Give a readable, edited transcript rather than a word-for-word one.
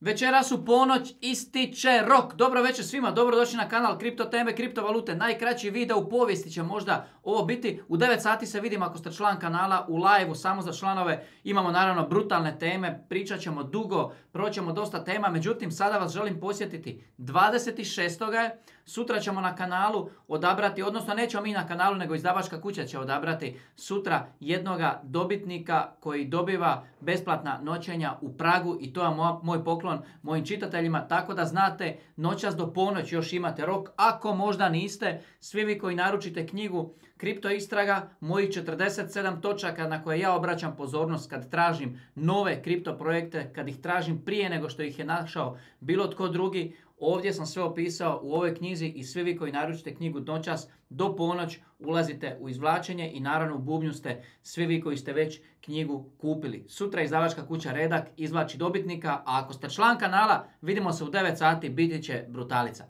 Večeras u ponoć ističe rok. Dobro večer svima, dobrodošli na kanal Kripto teme, kriptovalute. Najkraći video u povijesti će možda ovo biti. U 9 sati se vidimo ako ste član kanala u live-u samo za članove. Imamo naravno brutalne teme, pričat ćemo dugo, proćemo dosta tema. Međutim, sada vas želim posjetiti. 26. Sutra ćemo na kanalu odabrati, odnosno nećemo mi na kanalu, nego izdavačka kuća će odabrati sutra jednoga dobitnika koji dobiva besplatna noćenja u Pragu i to je moj poklon mojim čitateljima, tako da znate, noćas do ponoć još imate rok. Ako možda niste, svi vi koji naručite knjigu Kripto istraga, mojih 47 točaka na koje ja obraćam pozornost kad tražim nove kripto projekte, kad ih tražim prije nego što ih je našao bilo tko drugi, ovdje sam sve opisao u ovoj knjizi i svi vi koji naručite knjigu noćas do ponoć ulazite u izvlačenje i naravno u bubnju ste svi vi koji ste već knjigu kupili. Sutra izdavačka kuća Redak izvlači dobitnika, a ako ste član kanala vidimo se u 9 sati, biti će brutalica.